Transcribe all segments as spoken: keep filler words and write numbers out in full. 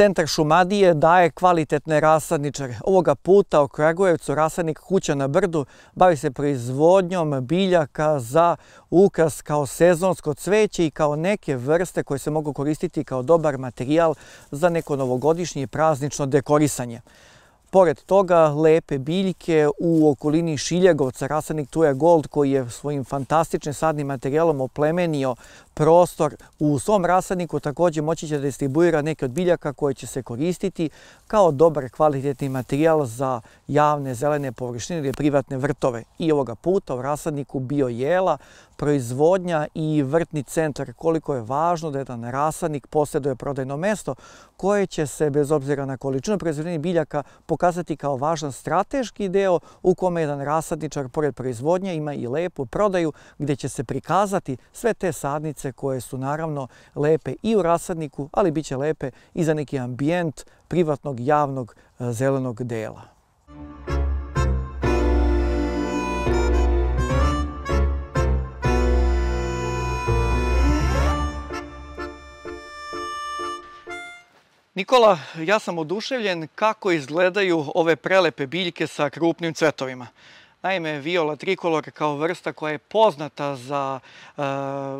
Centar Šumadije daje kvalitetne rasadničare. Ovoga puta u Kragujevcu rasadnik Kuća na brdu bavi se proizvodnjom biljaka za ukras kao sezonsko cveće i kao neke vrste koje se mogu koristiti kao dobar materijal za neko novogodišnje i praznično dekorisanje. Pored toga, lepe biljke u okolini Šiljegovca, rasadnik Tuja Gold koji je svojim fantastičnim sadnim materijalom oplemenio prostor u svom rasadniku, također moći će da distribuira neke od biljaka koje će se koristiti kao dobar kvalitetni materijal za javne zelene površine ili privatne vrtove. I ovoga puta u rasadniku bio jela, proizvodnja i vrtni centar. Koliko je važno da jedan rasadnik posjeduje prodajno mesto koje će se, bez obzira na količinu proizvedenih biljaka, pokazati kao važan strateški deo u kome jedan rasadničar, pored proizvodnje, ima i lepu prodaju gdje će se prikazati sve te sadnice koje su naravno lepe i u rasadniku, ali bit će lepe i za neki ambijent privatnog, javnog, zelenog dela. Nikola, ja sam oduševljen kako izgledaju ove prelepe biljke sa krupnim cvetovima. Naime, viola trikolor kao vrsta koja je poznata za uh,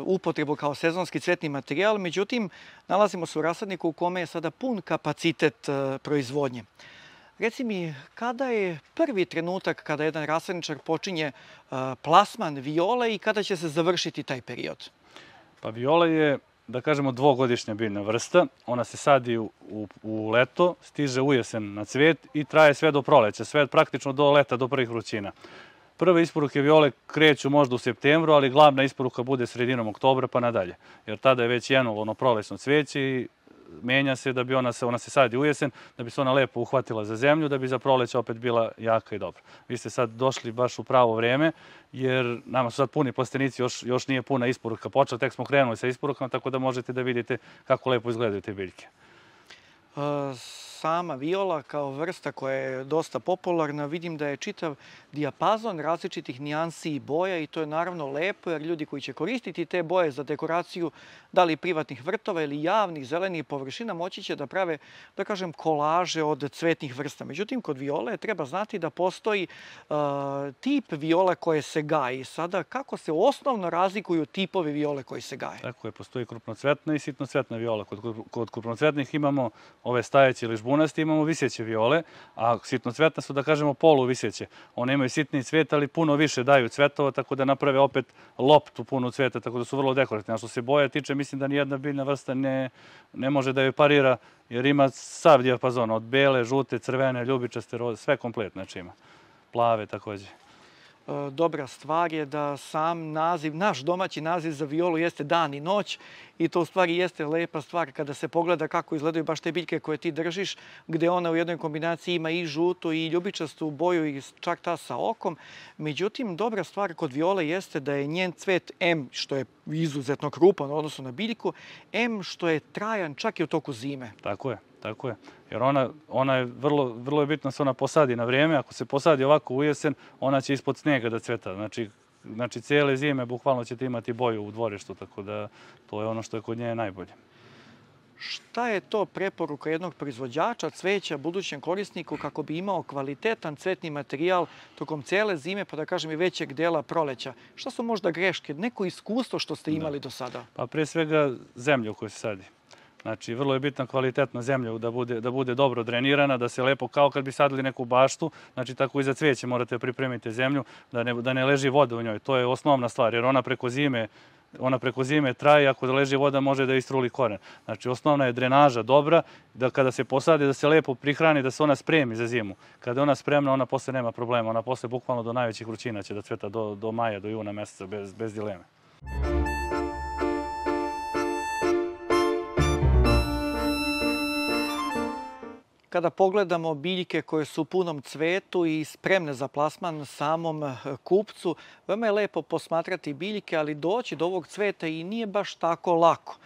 upotrebu kao sezonski cvetni materijal, međutim, nalazimo se u rasadniku u kome je sada pun kapacitet uh, proizvodnje. Reci mi, kada je prvi trenutak kada jedan rasadničar počinje uh, plasman viole i kada će se završiti taj period? Pa viola je, da kažemo, dvogodišnja biljna vrsta. Ona se sadi u, u, u leto, stiže u jesen na cvet i traje sve do proleća, sve praktično do leta, do prvih vrućina. Prve isporuke viole kreću možda u septembru, ali glavna isporuka bude sredinom oktobra pa nadalje. Jer tada je već jenulo ono prolećno cveće i menja se da bi ona se, ona se sadi u jesen, da bi se ona lepo uhvatila za zemlju, da bi za proleće opet bila jaka i dobra. Vi ste sad došli baš u pravo vreme, jer nama su sad puni plastenici, još, još nije puna isporuka počela, tek smo krenuli sa isporukama, tako da možete da vidite kako lepo izgledaju te biljke. Uh, sama viola kao vrsta koja je dosta popularna, vidim da je čitav dijapazon različitih nijansi i boja i to je naravno lepo jer ljudi koji će koristiti te boje za dekoraciju da li privatnih vrtova ili javnih zelenih površina moći će da prave, da kažem, kolaže od cvetnih vrsta. Međutim, kod viole treba znati da postoji uh, tip viole koje se gaji. Sada, kako se osnovno razlikuju tipovi viole koji se gaje? Tako je, postoji krupnocvetna i sitnocvetna viola. Kod, kod krupnocvetnih imamo ove stajeće ili žbunasti, imamo viseće viole, a sitnocvetna su, da kažemo, poluviseće. One imaju sitni cvet, ali puno više daju cvetova, tako da naprave opet loptu punu cveta, tako da su vrlo dekorativne. A što se boja tiče, mislim da nijedna biljna vrsta ne, ne može da joj parira, jer ima sav dijapazon, od bele, žute, crvene, ljubičaste, roze, sve kompletno, znači ima. Plave također. Dobra stvar je da sam naziv, naš domaći naziv za violu jeste dan i noć i to u stvari jeste lepa stvar kada se pogleda kako izgledaju baš te biljke koje ti držiš, gdje ona u jednoj kombinaciji ima i žutu i ljubičastu boju i čak ta sa okom. Međutim, dobra stvar kod viole jeste da je njen cvet M, što je izuzetno krupan u odnosu na biljku, M što je trajan čak i u toku zime. Tako je. Tako je, jer ona, ona je vrlo, vrlo je bitno da se ona posadi na vrijeme. Ako se posadi ovako u jesen, ona će ispod snijega da cveta. Znači, znači cijele zime bukvalno ćete imati boju u dvorištu, tako da to je ono što je kod nje najbolje. Šta je to preporuka jednog proizvođača cveća budućem korisniku kako bi imao kvalitetan cvetni materijal tokom cijele zime, pa da kažem i većeg dela proleća? Šta su možda greške, neko iskustvo što ste imali da. do sada? Pa prije svega zemlja u kojoj se sadi. Znači, vrlo je bitna kvalitetna zemlja da bude, da bude dobro drenirana, da se lepo, kao kad bi sadili neku baštu, znači tako i za cvijeće morate pripremiti zemlju, da ne, da ne leži voda u njoj. To je osnovna stvar, jer ona preko zime, ona preko zime traje, ako da leži voda može da istruli koren. Znači, osnovna je drenaža dobra, da kada se posadi, da se lepo prihrani, da se ona spremi za zimu. Kada je ona spremna, ona posle nema problema. Ona posle bukvalno do najvećih vrućina će da cveta do, do maja, do juna meseca, bez, bez dileme. Kada pogledamo biljke koje su u punom cvetu i spremne za plasman samom kupcu, veoma je lepo posmatrati biljke, ali doći do ovog cveta i nije baš tako lako.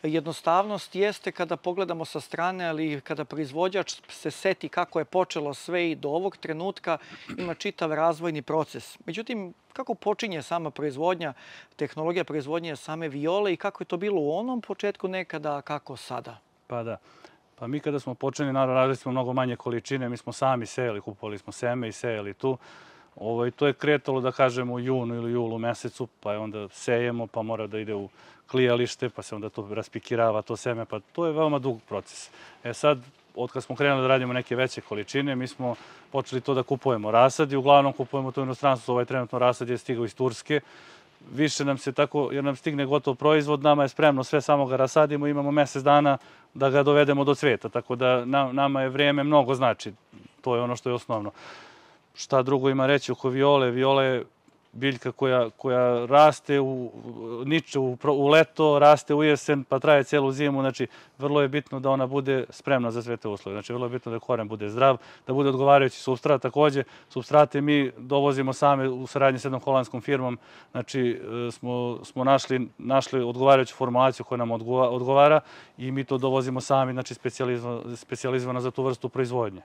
Jednostavnost jeste kada pogledamo sa strane, ali kada proizvođač se seti kako je počelo sve i do ovog trenutka ima čitav razvojni proces. Međutim, kako počinje sama proizvodnja, tehnologija proizvodnje same viole i kako je to bilo u onom početku nekada, a kako sada? Pa da. Pa mi kada smo počeli, naravno, radili smo mnogo manje količine, mi smo sami sejali, kupovali smo seme i sejali tu. Ovo, to je kretalo, da kažemo, u junu ili julu mesecu, pa je onda sejemo, pa mora da ide u klijalište, pa se onda to raspikirava, to seme, pa to je veoma dug proces. E sad, od kad smo krenuli da radimo neke veće količine, mi smo počeli to da kupujemo rasad i uglavnom kupujemo to u inostranstvu. Ovaj trenutno rasad je stigao iz Turske. Više nam se tako, jer nam stigne gotov proizvod, nama je spremno, sve samo ga rasadimo, imamo mesec dana da ga dovedemo do cveta, tako da nama je vrijeme mnogo znači, to je ono što je osnovno. Šta drugo ima reći oko viole? Viola je biljka koja, koja raste u, niče u, u leto, raste u jesen, pa traje cijelu zimu. Znači, vrlo je bitno da ona bude spremna za sve te uslove. Znači, vrlo je bitno da koren bude zdrav, da bude odgovarajući supstrat. Također, supstrate mi dovozimo same u saradnji s jednom holandskom firmom. Znači, smo, smo našli, našli odgovarajuću formulaciju koja nam odgovara i mi to dovozimo sami, znači, specijalizovano za tu vrstu proizvodnje.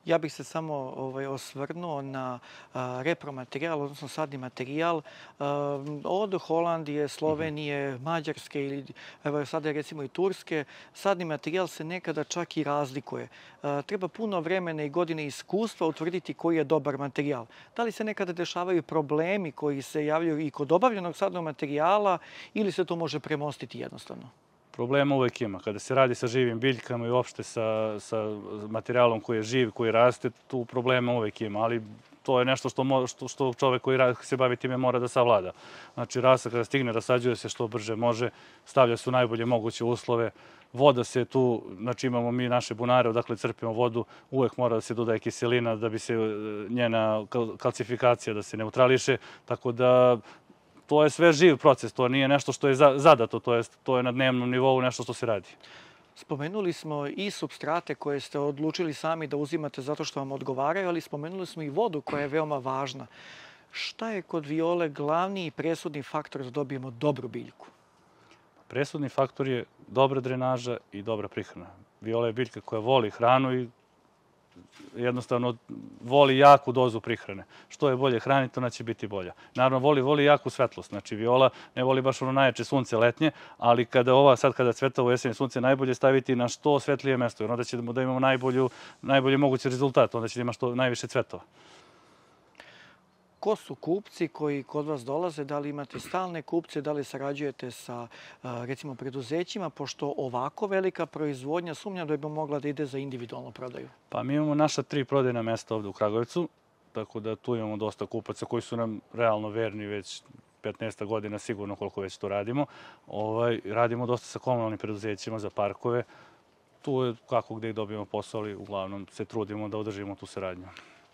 Ja bih se samo ovaj, osvrnuo na a, repromaterijal, odnosno sadni materijal a, od Holandije, Slovenije, Mađarske ili evo, sada recimo i Turske. Sadni materijal se nekada čak i razlikuje. A, treba puno vremena i godine iskustva utvrditi koji je dobar materijal. Da li se nekada dešavaju problemi koji se javljaju i kod obavljenog sadnog materijala ili se to može premostiti jednostavno? Problema uvek ima. Kada se radi sa živim biljkama i uopšte sa, sa materijalom koji je živ, koji raste, tu problema uvek ima, ali to je nešto što, što, što čovek koji se bavi time mora da savlada. Znači, rasad kada stigne, rasađuje se što brže može, stavlja se u najbolje moguće uslove, voda se tu, znači imamo mi naše bunare, odakle crpimo vodu, uvek mora da se dodaje kiselina da bi se njena kalcifikacija da se neutrališe, tako da to je sve živ proces, to nije nešto što je zadato, to je, to je na dnevnom nivou nešto što se radi. Spomenuli smo i supstrate koje ste odlučili sami da uzimate zato što vam odgovaraju, ali spomenuli smo i vodu koja je veoma važna. Šta je kod viole glavni i presudni faktor da dobijemo dobru biljku? Presudni faktor je dobra drenaža i dobra prihrana. Viola je biljka koja voli hranu i jednostavno voli jaku dozu prihrane. Što je bolje hraniti, ona će biti bolja. Naravno, voli, voli jaku svetlost. Znači, viola ne voli baš ono najjače sunce letnje, ali kada ova, sad kada cveta u jesen sunce, najbolje staviti na što svetlije mesto, jer onda ćemo da imamo najbolju, najbolji mogući rezultat, onda će da ima što najviše cvetova. Ko su kupci koji kod vas dolaze? Da li imate stalne kupce, da li sarađujete sa recimo preduzećima, pošto ovako velika proizvodnja sumnjam da bi mogla da ide za individualnu prodaju? Pa mi imamo naša tri prodajna mesta ovdje u Kragujevcu, tako da tu imamo dosta kupaca koji su nam realno verni već petnaest godina, sigurno koliko već to radimo. Ovaj, radimo dosta sa komunalnim preduzećima za parkove. Tu je kako gdje dobijemo posao, ali uglavnom se trudimo da održimo tu saradnju.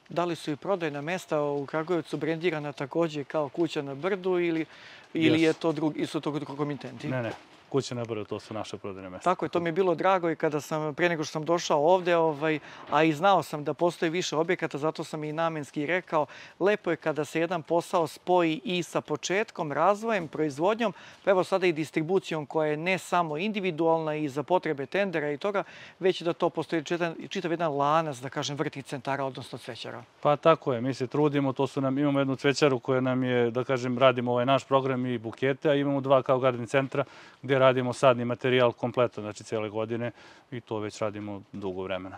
Da li su i prodajna mesta u Kragujevcu brendirana također kao Kuća na brdu ili, ili yes. je to drugi, su to komitenti? Ne, ne. Kuća na brdu, to su naše prodajne mesta. Tako je, to mi je bilo drago i kada sam, pre nego što sam došao ovdje, ovaj, a i znao sam da postoji više objekata, zato sam i namenski rekao, lepo je kada se jedan posao spoji i sa početkom, razvojem, proizvodnjom, pa evo sada i distribucijom koja je ne samo individualna i za potrebe tendera i toga, već da to postoji čitav, čitav jedan lanac, da kažem, vrtnih centara, odnosno cvećara. Pa tako je, mi se trudimo, to su nam, imamo jednu cvećaru koja nam je, da kažem, radimo ovaj naš program i bukete, a imamo dva kao garden centra gdje radimo sadni materijal kompletan, znači cijele godine i to već radimo dugo vremena.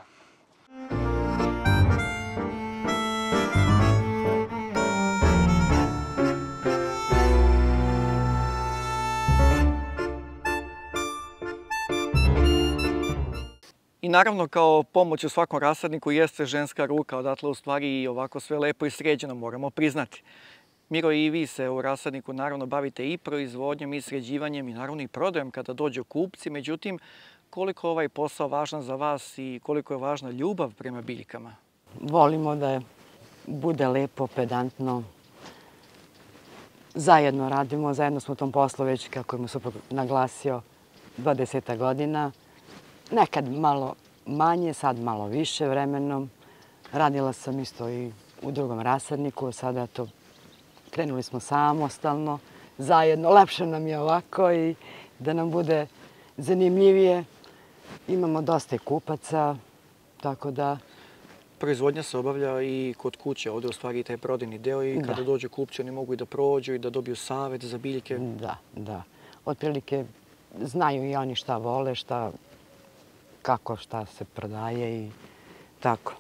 I naravno kao pomoć u svakom rasadniku jeste ženska ruka, odatle u stvari i ovako sve lepo i sređeno moramo priznati. Miro, i vi se u rasadniku naravno bavite i proizvodnjom i sređivanjem i naravno i prodajom kada dođu kupci. Međutim, koliko je ovaj posao važan za vas i koliko je važna ljubav prema biljkama? Volimo da bude lepo, pedantno. Zajedno radimo, zajedno smo u tom poslu već, kako je mu suprug naglasio, dvadeset godina. Nekad malo manje, sad malo više vremenom. Radila sam isto i u drugom rasadniku, sada to krenuli smo samostalno, zajedno. Lepše nam je ovako i da nam bude zanimljivije. Imamo dosta kupaca, tako da... Proizvodnja se obavlja i kod kuće, ovdje u stvari taj prodajni deo i kada dođu kupci oni mogu i da prođu i da dobiju savjet za biljke. Da, da. Otprilike znaju i oni šta vole, šta kako šta se prodaje i tako.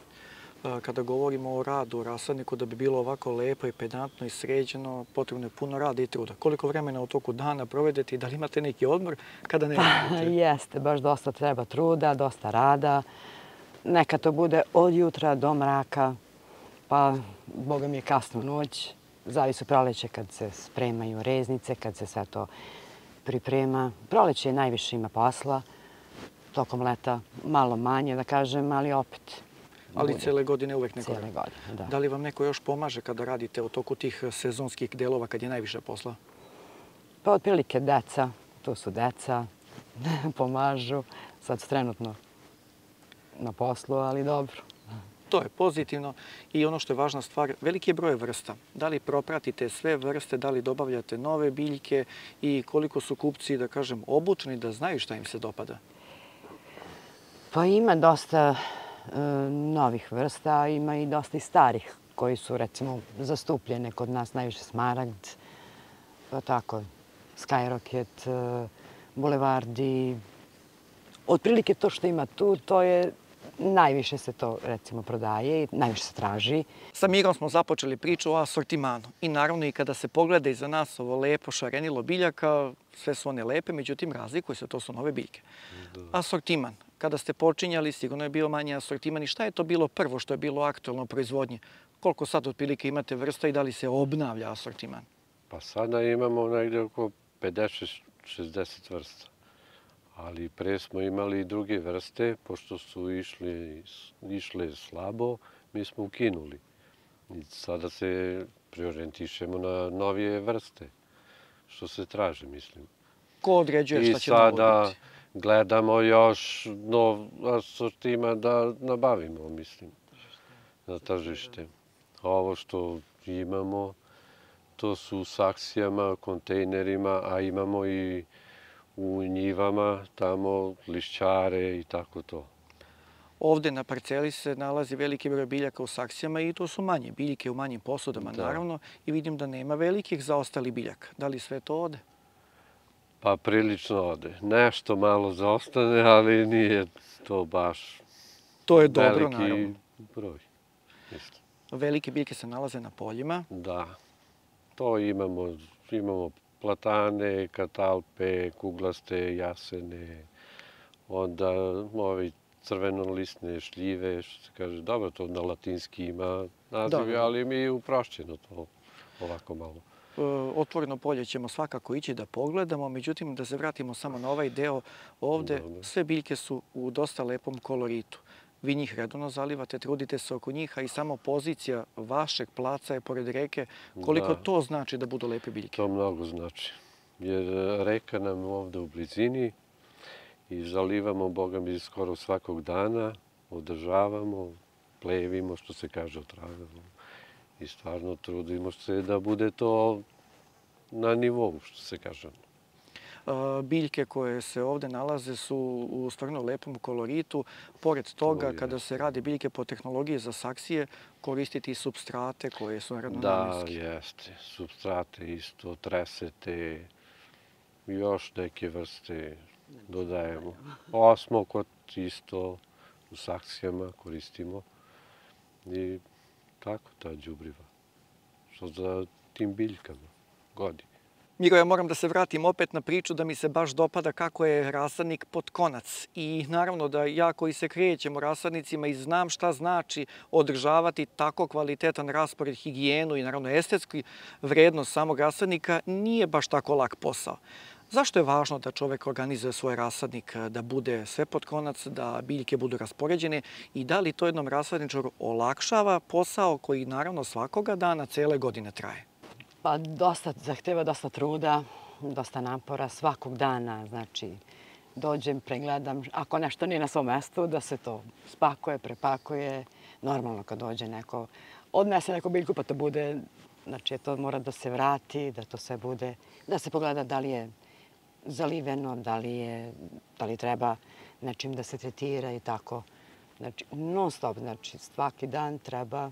Kada govorimo o radu u rasadniku, da bi bilo ovako lepo i pedantno i sređeno, potrebno je puno rada i truda. Koliko vremena u toku dana provedete i da li imate neki odmor kada ne radite? Jeste, baš dosta treba truda, dosta rada. Neka to bude od jutra do mraka, pa boga mi je kasno noć. Zavisi u proleće kad se spremaju reznice, kad se sve to priprema. Proleće najviše ima posla, tokom leta malo manje da kažem, ali opet. Ali cijele godine uvek neko Cijele godine, da. Da li vam neko još pomaže kada radite u toku tih sezonskih delova kad je najviše posla? Pa otprilike deca, tu su deca, pomažu. Sad su trenutno na poslu, ali dobro. To je pozitivno i ono što je važna stvar, veliki je broj vrsta. Da li propratite sve vrste, da li dobavljate nove biljke i koliko su kupci, da kažem, obučeni da znaju šta im se dopada? Pa ima dosta novih vrsta, a ima i dosta i starih koji su recimo zastupljene kod nas, najviše smaragd, pa tako, skyrocket, bulevardi. Otprilike to što ima tu, to je najviše se to recimo prodaje i najviše se traži. Sa Mirom smo započeli priču o asortimanu i naravno i kada se pogleda iza nas ovo lepo šarenilo biljaka, sve su one lepe, međutim razlikuju se, to su nove biljke. Asortiman. Kada ste počinjali, sigurno je bio manji asortiman i šta je to bilo prvo što je bilo aktualno u proizvodnji? Koliko sad otprilike imate vrsta i da li se obnavlja asortiman? Pa sada imamo negdje oko pedeset šezdeset vrsta. Ali pre smo imali i druge vrste, pošto su išle slabo, mi smo ukinuli. I sada se preorijentišemo na novije vrste, što se traže, mislim. Ko određuje šta će novo biti? I sada gledamo još nov asortiman da nabavimo, mislim, na tržište. Ovo što imamo, to su u saksijama, kontejnerima, a imamo i u njivama, tamo lišćare i tako to. Ovde na parceli se nalazi veliki broj biljaka u saksijama i to su manje biljke u manjim posudama, naravno, i vidim da nema velikih zaostalih biljaka. Da li sve to ode? Pa prilično ode. Nešto malo zaostane, ali nije to baš to je dobro, naravno. Veliki broj. Velike biljke se nalaze na poljima. Da. To imamo, imamo platane, katalpe, kuglaste, jasene, onda ovi crvenolistne šljive, što se kaže, dobro, to na latinski ima nazive, ali mi je uprošćeno to ovako malo. Otvoreno polje ćemo svakako ići da pogledamo, međutim da se vratimo samo na ovaj deo ovde, sve biljke su u dosta lepom koloritu. Vi njih redovno zalivate, trudite se oko njih, a i samo pozicija vašeg placa je pored reke. Koliko to znači da budu lepe biljke? To mnogo znači, jer reka nam ovde u blizini i zalivamo, boga mi, skoro svakog dana, održavamo, plevimo, što se kaže, otravamo. I stvarno trudimo se da bude to na nivou, što se kaže. Biljke koje se ovde nalaze su u stvarno lepom koloritu. Pored toga, kada se rade biljke po tehnologiji za saksije, koristiti i substrate koje su naravno namenske. Da, jeste. Substrate isto, tresete, još neke vrste dodajemo. Osmokot isto u saksijama koristimo. I tako ta đubriva. Što za tim biljkama godi. Miro, ja moram da se vratim opet na priču da mi se baš dopada kako je rasadnik pod konac. I naravno da ja koji se krećem u rasadnicima i znam šta znači održavati tako kvalitetan raspored, higijenu i naravno estetski vrednost samog rasadnika, nije baš tako lak posao. Zašto je važno da čovek organizuje svoj rasadnik, da bude sve pod konac, da biljke budu raspoređene i da li to jednom rasadničaru olakšava posao koji naravno svakoga dana, cele godine traje? Pa dosta, zahteva dosta truda, dosta napora svakog dana. Znači, dođem, pregledam, ako nešto nije na svom mestu, da se to spakuje, prepakuje. Normalno kad dođe neko, odnese neku biljku pa to bude, znači to mora da se vrati, da to sve bude, da se pogleda da li je zaliveno, da li, je, da li treba nečim da se tretira i tako. Znači, non stop, znači svaki dan treba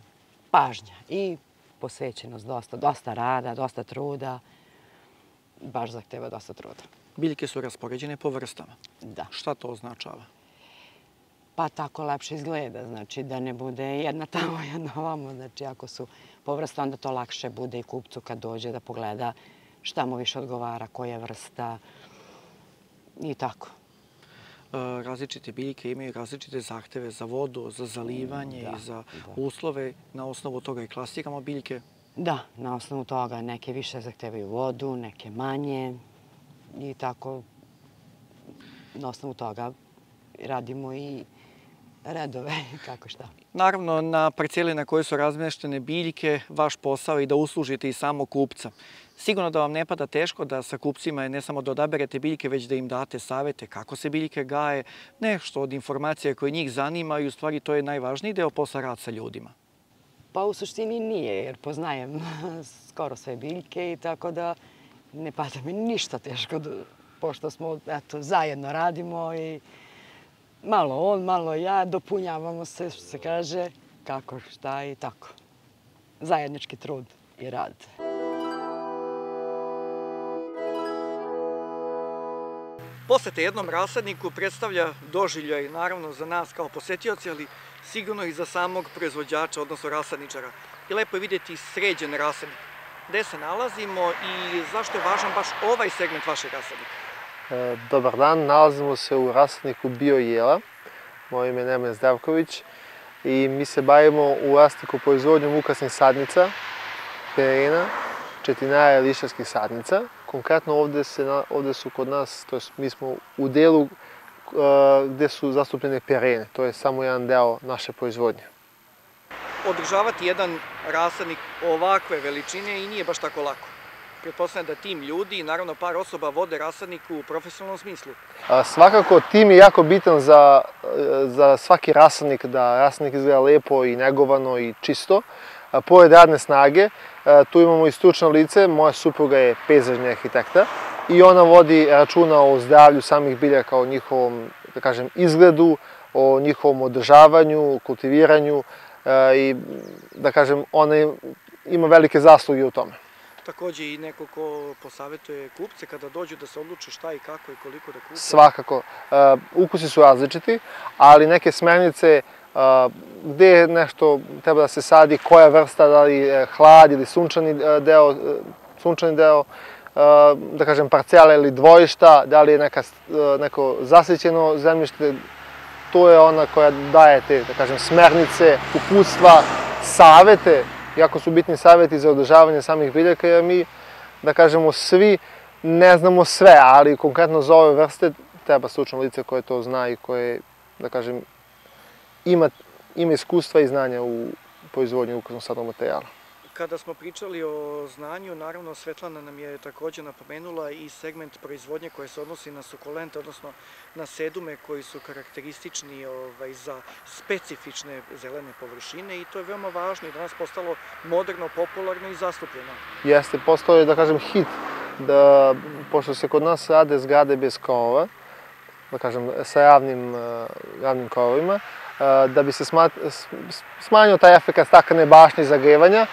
pažnja i posvećenost dosta, dosta rada, dosta truda, baš zahteva dosta truda. Biljke su raspoređene po vrstama. Da. Šta to označava? pa tako lepše izgleda, znači da ne bude jedna tamo, jedna ovamo. Znači ako su povrste, onda to lakše bude i kupcu kad dođe da pogleda šta mu više odgovara, koja vrsta i tako. Različite biljke imaju različite zahteve za vodu, za zalivanje i za uslove. Na osnovu toga i klasiramo biljke. Da, na osnovu toga neke više zahtevaju vodu, neke manje i tako na osnovu toga radimo i redove, kako šta. Naravno, na parceli na kojoj su razmeštene biljke, vaš posao je da uslužite i samog kupca. Sigurno da vam ne pada teško da sa kupcima ne samo da odaberete biljke, već da im date savete kako se biljke gaje, nešto od informacija koje njih zanima i u stvari to je najvažniji deo posla, rad sa ljudima. Pa u suštini nije, jer poznajem skoro sve biljke i tako da ne pada mi ništa teško, pošto smo, eto, zajedno radimo i malo on, malo ja, dopunjavamo se, što se kaže, kako, šta i tako. Zajednički trud i rad. Posete jednom rasadniku predstavlja doživljaj, naravno, za nas kao posetioci, ali sigurno i za samog proizvođača, odnosno rasadničara. I lepo je vidjeti sređen rasadnik. Gde se nalazimo i zašto je važan baš ovaj segment vašeg rasadnika? Dobar dan, nalazimo se u rasadniku Bio Jela. Moje ime je Nemen Zdravković i mi se bavimo u rasadniku proizvodnjom ukrasnih sadnica, perena, četinara i lišarskih sadnica. Konkretno ovde, se, ovde su kod nas, to je, mi smo u delu uh, gde su zastupljene perene, to je samo jedan deo naše proizvodnje. Održavati jedan rasadnik ovakve veličine i nije baš tako lako. Pretpostavljam da tim ljudi i naravno par osoba vode rasadnik u profesionalnom smislu. A, svakako tim je jako bitan za, za svaki rasadnik, da rasadnik izgleda lepo i negovano i čisto. A, pored radne snage, a, tu imamo i stručno lice, moja supruga je pejzažni arhitekta i ona vodi računa o zdravlju samih biljaka, o njihovom, da kažem, izgledu, o njihovom održavanju, kultiviranju a, i da kažem, ona ima velike zasluge u tome. Takođe i neko ko posavetuje kupce kada dođu da se odluče šta i kako i koliko da kupe? Svakako. Ukusi su različiti, ali neke smernice gde nešto treba da se sadi, koja vrsta, da li hlad ili sunčani deo, sunčani deo, da kažem parcela ili dvojišta, da li je neka, neko zasićeno zemljište, to je ona koja daje te, da kažem, smernice, uputstva, savete. Jako su bitni savjeti za održavanje samih biljaka, jer mi, da kažemo, svi ne znamo sve, ali konkretno za ove vrste treba stručno lice koje to zna i koje, da kažem, ima, ima iskustva i znanja u proizvodnji ukrasnog sadnog materijala. Kada smo pričali o znanju, naravno Svetlana nam je takođe napomenula i segment proizvodnje koje se odnosi na sukulente, odnosno na sedume koji su karakteristični ovaj, za specifične zelene površine i to je veoma važno i danas postalo moderno, popularno i zastupljeno. Jeste, postao je, da kažem, hit, da, pošto se kod nas rade zgrade bez krovova, da kažem, sa javnim, javnim krovovima, da bi se smanjio taj efekt staklene bašnje i zagrevanja,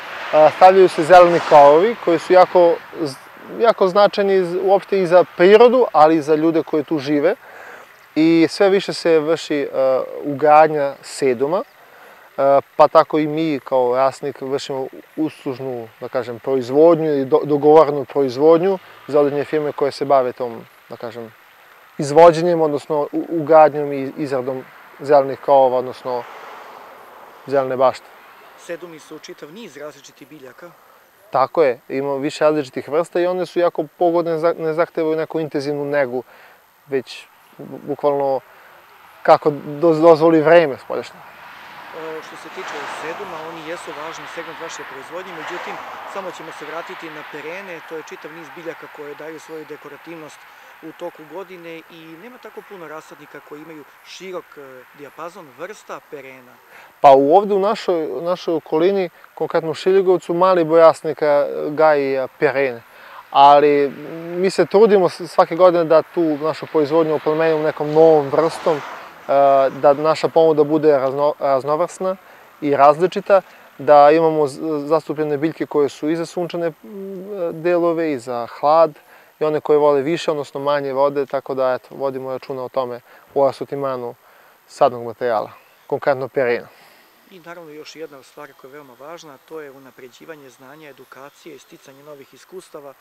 stavljaju se zeleni krovovi koji su jako, jako značajni uopšte i za prirodu, ali i za ljude koji tu žive. I sve više se vrši ugradnja seduma, pa tako i mi kao rasadnik vršimo uslužnu, da kažem, proizvodnju ili dogovorenu proizvodnju za određene firme koje se bave tom, da kažem, izvođenjem, odnosno ugradnjom i izradom zelenih krovova, odnosno zelene bašte. Sedumi su čitav niz različitih biljaka. Tako je, ima više različitih vrsta i one su jako pogodne, ne zahtevaju neku intenzivnu negu, već bukvalno kako dozvoli vreme spoljašnje. Što se tiče seduma, oni jesu važni segment vaše proizvodnje, međutim, samo ćemo se vratiti na perene, to je čitav niz biljaka koje daju svoju dekorativnost u toku godine i nema tako puno rasadnika koji imaju širok dijapazon vrsta perena. Pa ovde u našoj, našoj okolini, konkretno u Šiligovcu, mali broj rasadnika gaji perene. Ali mi se trudimo svake godine da tu našu proizvodnju oplemenimo nekom novom vrstom, da naša ponuda bude razno, raznovrsna i različita, da imamo zastupljene biljke koje su i za sunčane delove i za hlad, i one koje vole više, odnosno manje vode, tako da eto, vodimo računa o tome u asortimanu sadnog materijala, konkretno perina. I naravno još jedna stvar koja je veoma važna, to je unapređivanje znanja, edukacije i sticanje novih iskustava,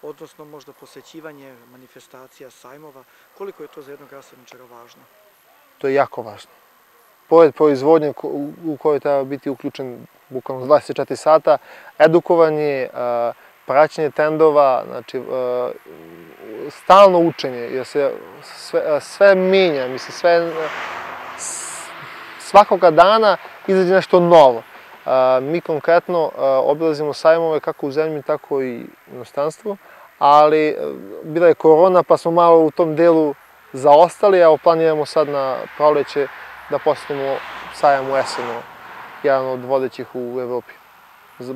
odnosno možda posjećivanje manifestacija, sajmova. Koliko je to za jednog rasadničara važno? To je jako važno. Pored proizvodnje u kojoj treba biti uključen bukvalno dvadeset četiri sata, edukovanje, praćenje trendova, znači stalno učenje, jer se sve, sve menja, mislim, sve, svakoga dana izađe nešto novo. Mi konkretno obilazimo sajmove kako u zemlji, tako i u inostranstvu, ali bila je korona pa smo malo u tom delu zaostali, a planiramo sad na proleće da posjetimo sajam u Esenu, jedan od vodećih u Evropi, za,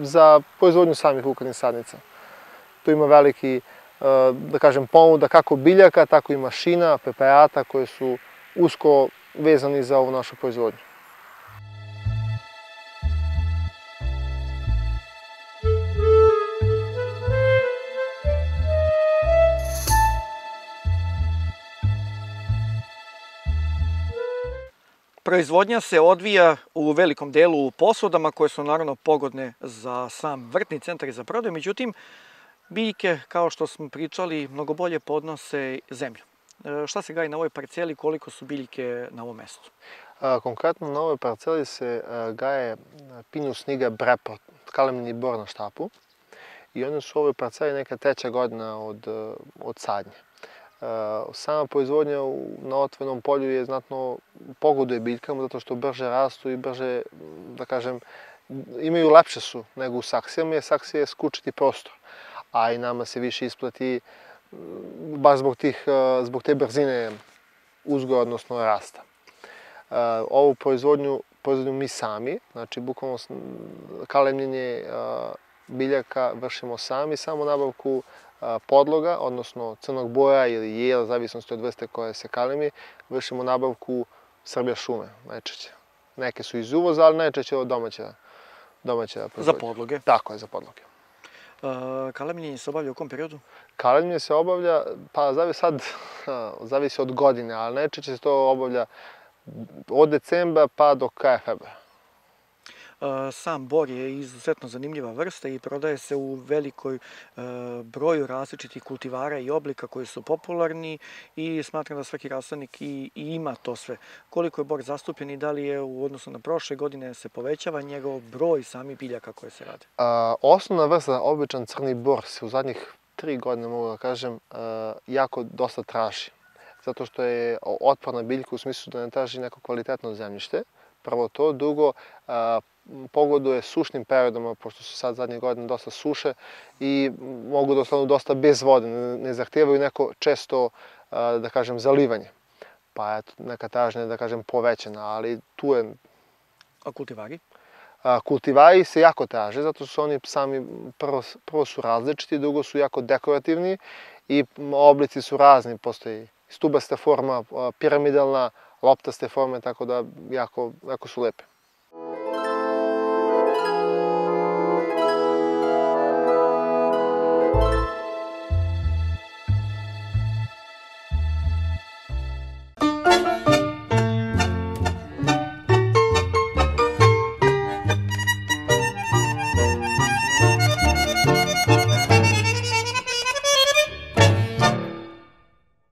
za proizvodnju samih lukavnih sadnica. Tu ima veliki, da kažem, ponuda kako biljaka, tako i mašina, preparata koje su usko vezani za ovu našu proizvodnju. Proizvodnja se odvija u velikom delu u posudama koje su naravno pogodne za sam vrtni centar i za prodaju, međutim biljke, kao što smo pričali, mnogo bolje podnose zemlju. Šta se gaji na ovoj parceli, koliko su biljke na ovom mestu? Konkretno na ovoj parceli se gaje Pinus niger breport, kalemni bor na štapu, i one su u ovoj parceli neka treća godina od, od sadnje. Sama proizvodnja na otvorenom polju je znatno pogoduje biljkama zato što brže rastu i brže, da kažem, imaju lepše su nego u saksijama, jer saksija je skučiti prostor, a i nama se više isplati baš zbog, tih, zbog te brzine uzgoja, odnosno rasta. Ovu proizvodnju proizvodnju mi sami, znači bukvalno kalemljenje biljaka vršimo sami, samo nabavku podloga, odnosno crnog boja ili jela, zavisnosti od vrste koje se kalemi, vršimo nabavku Srbija šume, najčešće. Neke su iz uvoza, ali najčešće od domaća, domaća proizvodnja. Za podloge? Tako je, za podloge. Kalemljenje se obavlja u kom periodu? Kalemljenje se obavlja, pa zavisi sad, zavisi od godine, ali najčešće se to obavlja od decembra pa do kraja februara. Sam bor je izuzetno zanimljiva vrsta i prodaje se u velikoj broju različitih kultivara i oblika koji su popularni i smatram da svaki rasadnik i ima to sve. Koliko je bor zastupljen i da li je u odnosu na prošle godine se povećava njegov broj samih biljaka koje se rade? Osnovna vrsta, običan crni bor, se u zadnjih tri godine, mogu da kažem, jako dosta traži. Zato što je otporna biljka u smislu da ne traži neko kvalitetno zemljište. Prvo to, drugo, pogoduje sušnim periodama, pošto su sad zadnje godine dosta suše i mogu da ostanu dosta bez vode, ne zahtijevaju neko često, da kažem, zalivanje. Pa eto, neka tražnja je, da kažem, povećana, ali tu je... A kultivari? Kultivari se jako traže, zato su oni sami, prvo, prvo su različiti, drugo su jako dekorativni i oblici su razni, postoji stubasta forma, piramidalna, loptaste forme, tako da jako, jako su lepe.